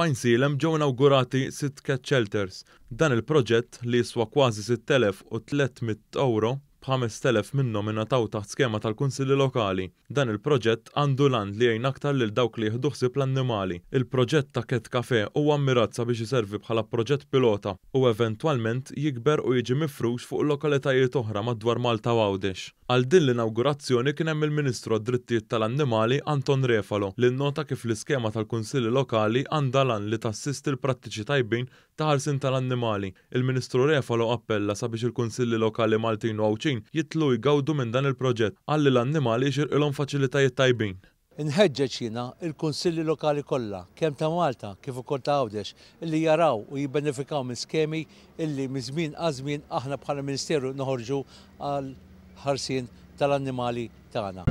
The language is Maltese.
F'Għajnsielem ġew inawgurati sitt cat shelters. Dan il-proġett, li jiswa kważi 6,300 ewro, b'5,000 minnhom ingħataw taħt skema tal-Kunsilli Lokali. Dan il-proġett għandu l-għan li jgħin aktar lil dawk li jieħdu ħsieb l-annimali. Il-proġett ta' Cat Café huwa mmirat sabiex iservi bħala proġett pilota u eventwalment jikber u jiġi mifrux fuq lokalitajiet oħra madwar Malta u Għawdex. Għal din l-inawgurazzjoni kien hemm il-Ministru għad-Drittijiet tal-Annimali Anton Refalo li nnota kif l-iskema tal-Kunsilli Lokali għandha l-għan li tassisti l-prattiċi tajbin ta' ħarsien tal-annimali. Il-Ministru Refalo appella sabiex il-Kunsilli Lokali Maltin u Għawdxin jidħlu u jgawdu minn dan il-proġett. Qal li l-annimali jixirqilhom faċilitajiet tajbin. Inħeġġeġ jiena l-Kunsilli Lokali kollha, kemm ta' Malta kif ukoll ta' Għawdex, illi jaraw u jibbenefikaw minn skemi illi minn żmien għal żmien aħna bħala Ministeru noħorġu għall-ħarsien tal-annimali tagħna.